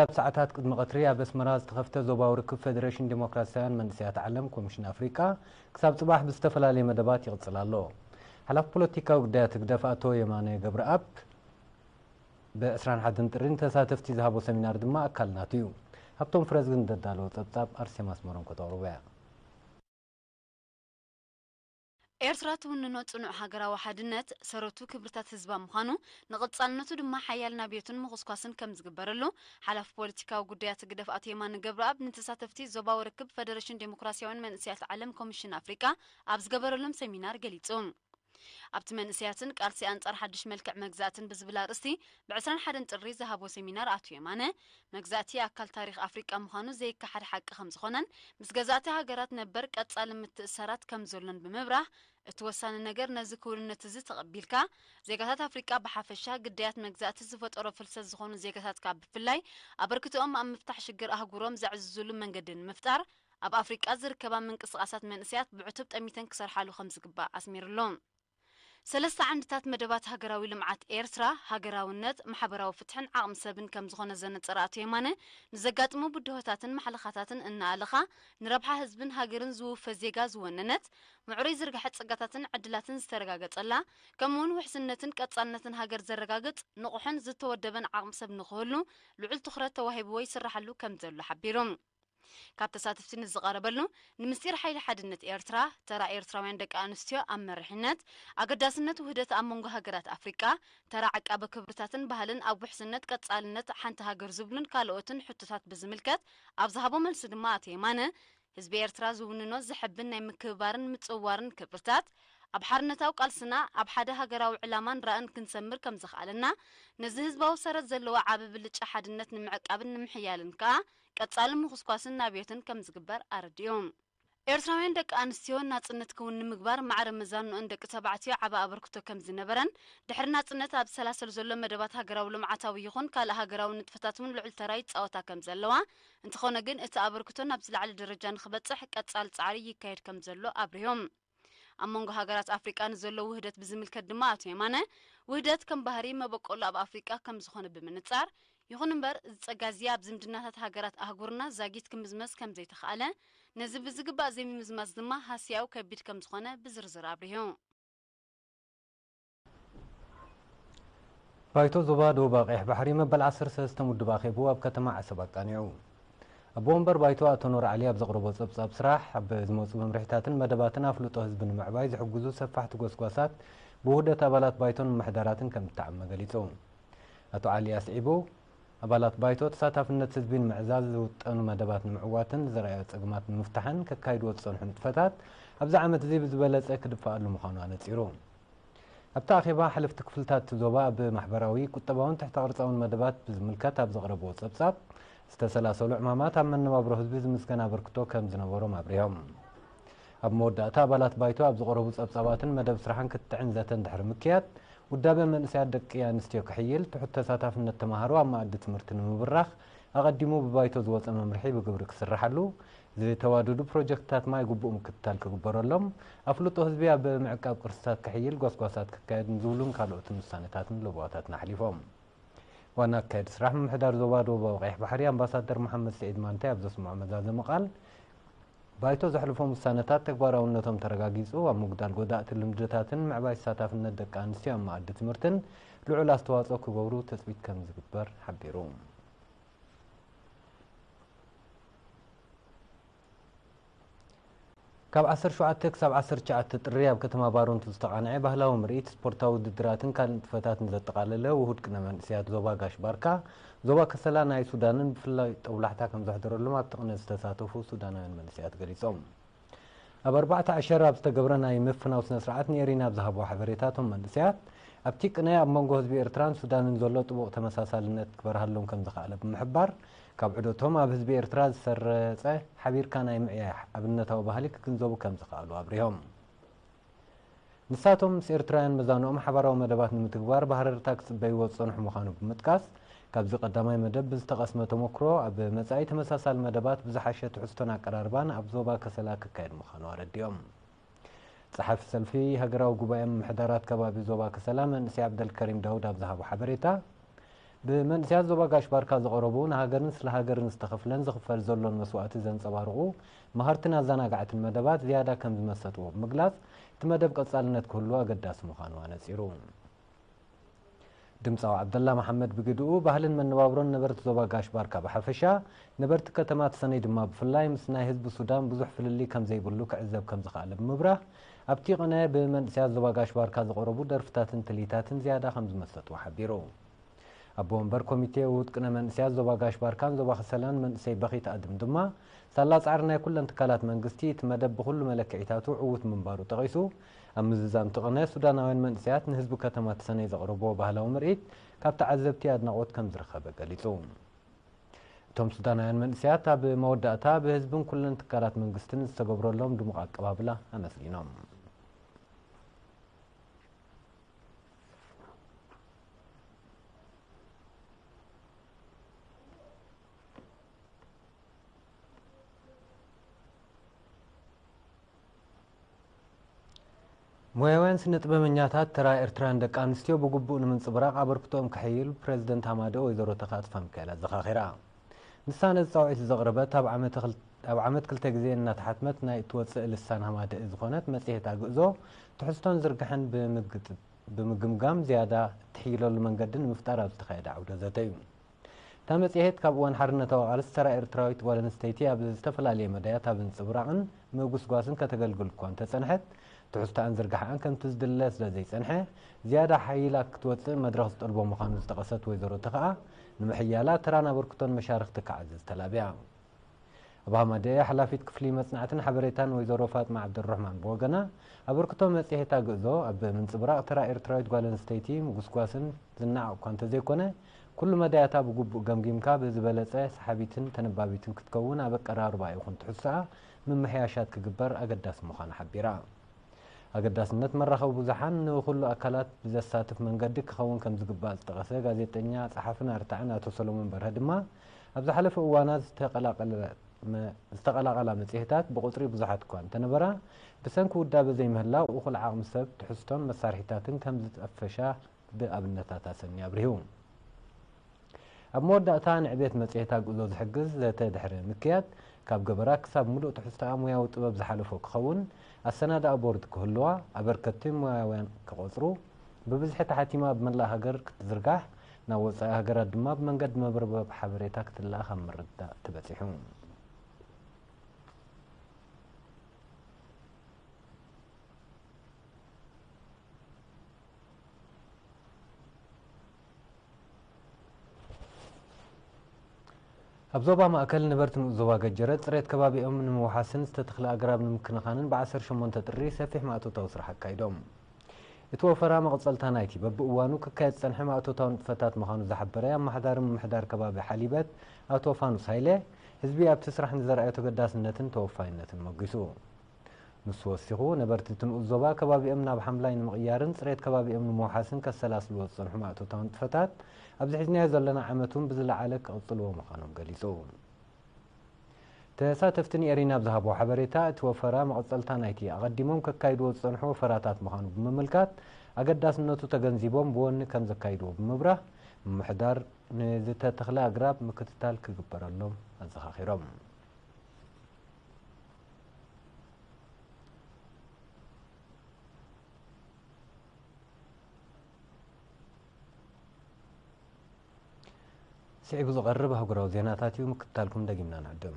ኣብ ሰዓታት ቅድሚ ቀትሪ ኣብ ኣስመራ ዝተኸፍተ ዞባዊ ርክብ ፌደሬሽን ዴሞክራሲያውያን መንእሰያት ዓለም ኮሚሽን ኣፍሪቃ ክሳብ ጽባሕ ብዝተፈላለየ መደባት ይቕጽል ኣሎ። ሓላፊ ፖለቲካዊ ጉዳያት ህግደፍ ኣቶ የማነ ገብረኣብ ብ ዕስራን ሓደን ጥሪ ንተሳተፍቲ ዝሃቦ ሰሚናር ድማ ኣካል ናቱ እዩ። ሃብቶም ፍረዝግን ዘዳለዎ ጸብጻብ ኣርሴማ ኣስመሮም ከተቕርቦ እያ። ኤርትራ ትውንኖ ጽኑዕ ሃገራዊ ሓድነት ሰረቱ ክብርታት ህዝባ ምዃኑ፣ ንቐጻልነቱ ድማ ሓያል ናብዮትን ምኹስኳስን ከም ዝግበረሉ ሓላፊ ፖለቲካዊ ጉዳያት ህግደፍ ኣቶ የማነ ገብረኣብ ንተሳተፍቲ ዞባዊ ርክብ ፈደረሽን ዴሞክራሲያውያን መንእሰያት ዓለም ኮሚሽን ኣፍሪቃ ኣብ ዝገበረሎም ሰሚናር ገሊጹ። ኣብቲ መንእሰያትን ቃልሲ ኣንጻር ሓድሽ መልክዕ መግዛእትን ብዝብል ኣርእስቲ ብ ዕስራን ሓደን ጥሪ ዝሃቦ ሰሚናር ኣቶ የማነ፣ መግዛእቲ ኣካል ታሪኽ ኣፍሪቃ ምዃኑ ዘይከሓድ ሓቂ ከም ዝኾነን፣ ምስ ገዛእቲ ሃገራት ነበር ቀጻሊ ምትእስሳራት ከም ዘሎን ብምብራህ፣ እቲ ወሳኒ ነገር ነዚ ክውንነት እዚ ተቐቢልካ፣ ዜጋታት ኣፍሪቃ ብሓፈሻ፣ ግዳያት መግዛእቲ ዝፈጠሮ ፍልሰት ዝኾኑ ዜጋታት ከኣ ብፍላይ፣ ኣበርክቶኦም ኣብ ምፍታሕ ሽግር ኣህጉሮም ዘዕዝዙሉ መንገዲ ንምፍጣር፣ ኣብ ኣፍሪቃ ዝርከባ ምንቅስቓሳት መንእሰያት ብዕቱብ ጠሚተን ክሰርሓሉ ከም ዝግባእ ኣስሚርሉ። ሰለስተ ዓንድታት መደባት ሃገራዊ ልምዓት ኤርትራ፣ ሃገራውነት፣ ማሕበራዊ ፍትሕን ዓቕሚ ሰብን ከም ዝኾነ ዘነጸረ ኣቶ የማነ፣ ንዘጋጥሙ ብድሆታትን ማሕለኻታትን እናኣለኻ፣ ንረብሓ ህዝብን ሃገርን ዝውፈ ዜጋ ዝወነነት፣ ምዕሩይ ዝርግሐ ጸጋታትን ዕድላትን ዝተረጋገጸላ፣ ከምኡ'ውን ውሕስነትን ቀጻልነትን ሃገር ዘረጋግጽ፣ ንቑሕን ዝተወደበን ዓቕሚ ሰብ ንኽህሉ ልዑል ትኹረት ተዋሂብዎ ይስራሓሉ ከም ዘሎ ሓቢሩ። ካብ ተሳተፍቲ ንዝቐረበሉ፣ ንምስጢር ሓይሊ ሓድነት ኤርትራ፣ ተራ ኤርትራውያን ደቂ ኣንስትዮ ኣብ መሪሕነት፣ ኣገዳስነት ውህደት ኣብ መንጎ ሃገራት ኣፍሪቃ፣ ተራ ዓቃቢ ክብርታትን ባህልን ኣብ ውሕስነት ቀጻልነት ሓንቲ ሃገር ዝብሉን ካልኦትን ሕቶታት ብዝምልከት ኣብ ዝሃቦ መልሲ ድማ ኣቶ የማነ፣ ህዝቢ ኤርትራ ዝውንኖ ዘሐብን ናይ ምክብባርን ምጽውዋርን ክብርታት፣ ኣብ ሓርነታዊ ቃልስና ኣብ ሓደ ሃገራዊ ዕላማን ራእን ክንሰምር ከም ዘኽኣለና፣ ነዚ ህዝባዊ ሰረት ዘለዎ ዓቢ ብልጫ ሓድነት ንምዕቃብን ንምሕያልን ከኣ ቀጻሊ ምኹስኳስን ናብዮትን ከም ዝግበር ኣረዲኡ። ኤርትራውያን ደቂ ኣንስትዮ ናጽነት ክውን ንምግባር ማዕረ መዛንኦን ደቂ ተባዕትዮ ዓቢ ኣበርክቶ ከም ዝነበረን፣ ድሕሪ ናጽነት ኣብ ዝሰላሰል ዘሎ መደባት ሃገራዊ ልምዓታዊ ይኹን ካልእ ሃገራዊ ንጥፈታት እውን ልዑል ተራ ይጻወታ ከም ዘለዋ፣ እንተኾነ ግን እቲ ኣበርክቶ ናብ ዝለዓለ ደረጃ ንኽበጽሕ ቀጻሊ ጻዕሪ ይካየድ ከም ዘሎ ኣብሪሆም። ኣብ መንጎ ሃገራት ኣፍሪቃ ንዘሎ ውህደት ብዝምልከት ድማ ኣቶ የማነ፣ ውህደት ከም ባህሪ መበቆሉ ኣብ ኣፍሪቃ ከም ዝኾነ ብምንጻር፣ ይኹን እምበር፣ እዚ ጸጋ እዚ ኣብ ዝምድናታት ሃገራት ኣህጉርና ዛጊት ክምዝመዝ ከም ዘይተኻእለ፣ ነዚ ብዝግባእ ዘይምምዝማዝ ድማ ሃስያኡ ከቢድ ከም ዝኾነ ብዝርዝር ኣብሪሁ። ባይቶ ዞባ ደቡብ ቀይሕ ባሕሪ መበል ዓሰርተ ሰለስተ ውድብ ኣኼቡ ኣብ ከተማ ዓሰብ ኣቃኒዑ። ኣቦ ወንበር ባይቶ ኣቶ ኑር ዓሊ ኣብ ዘቕረቦ ጸብጻብ ስራሕ፣ ኣብ ዝመጹ መምርሒታትን መደባትን ኣፍልጦ ህዝቢ ንምዕባይ ዝሕግዙ ሰፋሕቲ ጎስጓሳት ብውህደት ኣባላት ባይቶን ምምሕዳራትን ከም እተዓመ ገሊጹ። ኣቶ ዓሊ ኣስዒቡ፣ ኣባላት ባይቶ ተሳታፍነት ህዝቢ ንምዕዛዝ ዝውጠኑ መደባት ንምዕዋትን ዝረኣዮ ጸገማት ንምፍታሕን ከካይድዎ ዝጸንሑ ንጥፈታት ኣብዚ ዓመት እዚ ብዝበለጸ ክድፈኣሉ ምዃኑ ኣነጺሩ። ኣብቲ ኣኼባ፣ ሓለፍቲ ክፍልታት እቲ ዞባ ኣብ ማሕበራዊ፣ ቁጠባውን ትሕተ ቅርጻውን መደባት ብዝምልከት ኣብ ዘቕረብዎ ጸብጻብ፣ ዝተሰላሰሉ ዕማማት ኣብ መነባብሮ ህዝቢ ዝምስገን ኣበርክቶ ከም ዝነበሮም ኣብሪሆም። ኣብ መወዳእታ፣ ኣባላት ባይቶ ኣብ ዝቐረቡ ጸብጻባትን መደብ ስራሕን ክትዕን ዘተን ድሕሪ ምክያድ፣ ውዳበ መንእሰያት ደቂ ኣንስትዮ ክሕይል፣ ትሑት ተሳታፍነት ተማሃሮ ኣብ መኣዲ ትምህርቲ ንምብራኽ ኣቐዲሙ ብባይቶ ዝወጸ መምርሒ ብግብሪ ክስርሓሉ፣ ዝተዋደዱ ፕሮጀክትታት ማይ ግቡእ ምክትታል ክግበረሎም፣ ኣፍልጦ ህዝቢ ኣብ ምዕቃብ ቅርስታት ክሕይል ጎስጓሳት ክካየድ ዝብሉን ካልኦትን ውሳነታትን ለበዋታትን ኣሕሊፎም። ዋና ኣካያዲ ስራሕ ምምሕዳር ዞባ ደቡባዊ ቀይሕ ባሕሪ ኣምባሳደር መሓመድ ስዒድ ማንታይ ኣብ ዘስምዖ መዛዘሚ ቃል፣ ባይቶ ዘሕልፎም ውሳነታት ተግባራውነቶም ተረጋጊጹ፣ ኣብ ምጉዳል ጎዳእቲ ልምድታትን ምዕባይ ተሳታፍነት ደቂ ኣንስትዮ ኣብ መኣዲ ትምህርትን ልዑል ኣስተዋጽኦ ክገብሩ ትጽቢት ከም ዝግበር ሓቢሩ። ካብ ዓሰርተ ሸውዓተ ክሳብ ዓሰርተ ትሽዓተ ጥሪ ኣብ ከተማ ባረንቱ ዝተቓንዐ ባህላዊ ምርኢት፣ ስፖርታዊ ውድድራትን ካልእ ንጥፈታትን ዘጠቓለለ ውሁድ ቅነ መንእሰያት ዞባ ጋሽ ባርካ፣ ዞባ ከሰላ ናይ ሱዳንን ብፍላይ ጦብላሕታ ከም ዘሕደረሎም ኣብቲ ቅነ ዝተሳተፉ ሱዳናውያን መንእሰያት ገሊጾም። ኣብ ኣርባዕተ ዓሸር ኣብ ዝተገብረ ናይ ምፍናው ስነ ስርዓት ንኤሪና ኣብ ዝሃብዎ ሓበሬታ፣ እቶም መንእሰያት ኣብቲ ቅነ ኣብ መንጎ ህዝቢ ኤርትራን ሱዳንን ዘሎ ጥቡቕ ተመሳሳልነት ክበርሃሎም ከም ዝኸኣለ ብምሕባር፣ ካብ ዑደቶም ኣብ ህዝቢ ኤርትራ ዝሰረጸ ሓቢርካ ናይ ምዕያይ ኣብነታዊ ባህሊ ክግንዘቡ ከም ዝኸኣሉ ኣብሪሆም። ንሳቶም ምስ ኤርትራውያን መዛንኦም ሓባራዊ መደባት ንምትግባር ብሃረርታ ክጽበይዎ ዝጸንሑ ምዃኑ ብምጥቃስ፣ ካብዚ ቀዳማይ መደብ ብዝተቐስመ ተመክሮ ኣብ መጻኢ ተመሳሳሊ መደባት ብዝሓሸ ትሕዝቶን ኣቀራርባን ኣብ ዞባ ከሰላ ክካየድ ምዃኑ ኣረዲኦም። ጸሓፊ ሰልፊ ሃገራዊ ጉባኤ ምምሕዳራት ከባቢ ዞባ ከሰላ መንእሰይ ዓብደልከሪም ዳውድ ኣብ ዝሃቦ ሓበሬታ፣ ብመንእሰያት ዞባ ጋሽ ባርካ ዝቐረቡ ንሃገርን ስለ ሃገርን ዝተኸፍለን ዝኽፈል ዘሎን መስዋእቲ ዘንጸባርቑ መሃርትን ኣዘናጋዕትን መደባት ዝያዳ ከም ዝመሰጥዎ ብምግላጽ፣ እቲ መደብ ቀጻልነት ክህሉ ኣገዳሲ ምዃኑ ኣነጺሩ። ድምጻዊ ዓብደላ መሓመድ ብግድኡ፣ ባህልን መነባብሮን ነበርቲ ዞባ ጋሽ ባርካ ብሓፈሻ፣ ነበርቲ ከተማ ተሰነይ ድማ ብፍላይ ምስ ናይ ህዝቢ ሱዳን ብዙሕ ፍልልይ ከም ዘይብሉ ክዕዘብ ከም ዝኸኣለ ብምብራህ፣ ኣብቲ ቅነ ብመንእሰያት ዞባ ጋሽ ባርካ ዝቐረቡ ደርፍታትን ትልሂታትን ዝያዳ ከም ዝመሰጥዎ ሓቢሩ። ኣቦ ወንበር ኮሚቴ ውሁድ ቅነ መንእሰያት ዞባ ጋሽ ባርካን ዞባ ከሰላን መንእሰይ በኺት ኣድም ድማ፣ ሳላ ጻዕሪ ናይ ኩለን ትካላት መንግስቲ፣ እቲ መደብ ብኹሉ መለክዒታቱ ዕዉት ምንባሩ ጠቒሱ፣ ኣብ ምዝዛም እቲ ቅነ፣ ሱዳናውያን መንእሰያት ንህዝቢ ከተማ ተሰነይ ዘቕረብዎ ባህላዊ ምርኢት ካብ ተዓዘብቲ ኣድናቖት ከም ዝረኸበ ገሊጹ። እቶም ሱዳናውያን መንእሰያት ኣብ መወዳእታ ብህዝብን ኩለን ትካላት መንግስትን ዝተገብረሎም ድሙቕ ኣቀባብላ ኣመስጊኖም። ሞያውያን ስነ ጥበበኛታት ተራ ኤርትራውያን ደቂ ኣንስትዮ ብግቡእ ንምንጽብራቕ ኣበርክቶኦም ከሐይል ፕሬዝደንት ሃማደ ወይዘሮ ተኽኣ ተስፋሚካኤል ኣዘኻኺራ። ንሳ ነዚ ጻውዒት ዘቕረበት ኣብ ዓመተ ክል-፣ ኣብ ዓመት ክልተ ግዜ እናተሓትመት ናይ እትወጽእ ልሳን ሃማደኢ ዝኾነት መጽሔት ኣግእዞ ትሕዝቶን ዝርግሐን ብምግጥ-፣ ብምግምጋም ዝያዳ እትሕይለሉ መንገዲ ንምፍጣር ኣብ ዝተኻየደ ዓውደ ዘተ እዩ። እታ መጽሔት ካብ እዋን ሓርነታዊ ቃልሲ ተራ ኤርትራዊት ጓል ኣንስተይቲ ኣብ ዝተፈላለየ መዳያት ኣብ ምንጽብራቕን ምጉስጓስን ከተገልግል እኳ እንተጸንሐት፣ ትሕዝቶኣን ዝርግሐኣን ከምቲ ዝድለ ስለ ዘይጸንሐ፣ ዝያዳ ሓይላ ክትወጽእ መድረኽ ዝጠልቦ ምዃኑ ዝጠቐሰት ወይዘሮ ተኽኣ፣ ንምሕያላ ተራን ኣበርክቶን መሻርኽቲ ክዓዝዝ ተላብያ። ኣብ ሃማደኤ ሓላፊት ክፍሊ መጽናዕትን ሓበሬታን ወይዘሮ ፋጥማ ዓብደልረሕማን ብወገና፣ ኣበርክቶ መጽሔት ኣግእዞ ኣብ ምንጽብራቕ ተራ ኤርትራዊት ጓል ኣንስተይቲ ምጉስጓስን ዝነዓቕ እኳ እንተዘይኮነ፣ ኩሉ መዳያታ ብግቡእ ገምጊምካ ብዝበለጸ ሰሓቢትን ተነባቢትን ክትከውን ኣብ ኣቀራርባ ይኹን ትሕዝቶኣ ምምሕያሻት ክግበር ኣገዳሲ ምዃኑ ሓቢራ። ኣገዳስነት መራኸቢ ብዙሓን ንኹሉ ኣካላት ብዘሳትፍ መንገዲ ክኸውን ከም ዝግባእ ዝጠቐሰ ጋዜጠኛ፣ ጸሓፍን ኣርታዕን ኣቶ ሰሎሞን በርሀ ድማ፣ ኣብ ዝሓለፈ እዋናት ዝተቐላቐለ መ-፣ ዝተቐላቐላ መጽሔታት ብቑጽሪ ብዙሓት እኳ እንተነበራ፣ ብሰንኪ ውዳበ ዘይምህላው እኹል ዓቕሚ ሰብ፣ ትሕዝቶን መሳርሒታትን ከም ዝጠፈሻ ብኣብነታት ኣሰንዩ ኣብሪሁ። ኣብ መወዳእታ ንዕቤት መጽሔት ኣግእዞ ዝሕግዝ ዘተ ድሕሪ ምክያድ፣ ካብ ገበራ ክሳብ ምሉእ ትሕዝቶኣ ሞያዊ ጥበብ ዝሓለፎ ክኸውን፣ ኣሰናድኣ ቦርድ ክህልዋ፣ ኣበርከትቲ ሞያውያን ክቖጽሩ፣ ብብዝሒ ተሓቲማ ኣብ መላእ ሃገር ክትዝርጋሕ፣ ናብ ወጻኢ ሃገራት ድማ ብመንገዲ መርበብ ሓበሬታ ክትለኣኽ ኣብ ምርድዳእ ተበጺሑ። ኣብ ዞባ ማእከል ነበርቲ ንኡስ ዞባ ገጀረ ጽሬት ከባቢኦም ንምውሓስን ዝተተኽለ ኣግራብ ንምክንኻንን ብዓሰርተ ሸሞንተ ጥሪ ሰፊሕ ማእቶታዊ ስራሕ ኣካይዶም። እቲ ወፈራ መቐጸልታ ናይቲ በብእዋኑ ክካየድ ዝጸንሐ ማእቶታዊ ንጥፈታት ምዃኑ ዝሓበረ ኣመሓዳሪ ምምሕዳር ከባቢ ሓሊበት ኣቶ ፋኑስ ሃይለ፣ ህዝቢ ኣብቲ ስራሕ ንዘርኣዮ ተገዳስነትን ተወፋይነትን ሞጊሱ። ንሱ ወሲኹ፣ ነበርቲ እቲ ንኡስ ዞባ ከባቢኦም ናብ ሓምላይ ንምቕያርን ጽሬት ከባቢኦም ንምውሓስን ከሰላስልዎ ዝጸንሑ ማእቶታዊ ንጥፈታት ኣብዚ ሒዝናዮ ዘለና ዓመት እውን ብዝለዓለ ክቕጽልዎ ምዃኖም ገሊጹ። ተሳተፍቲ ንኤሪና ኣብ ዝሃብዎ ሓበሬታ፣ እቲ ወፈራ መቐጸልታ ናይቲ ኣቐዲሞም ከካይድዎ ዝጸንሑ ወፈራታት ምዃኑ ብምምልካት፣ ኣገዳስነቱ ተገንዚቦም ብወኒ ከም ዘካይድዎ ብምብራህ፣ ምምሕዳር ንዝተተኽለ ኣግራብ ምክትታል ክግበረሎም ኣዘኻኺሮም። ስዒቡ ዝቐርብ ኣህጉራዊ ዜናታት እዩ፣ ምክትታልኩም ደጊምና ንዕድም።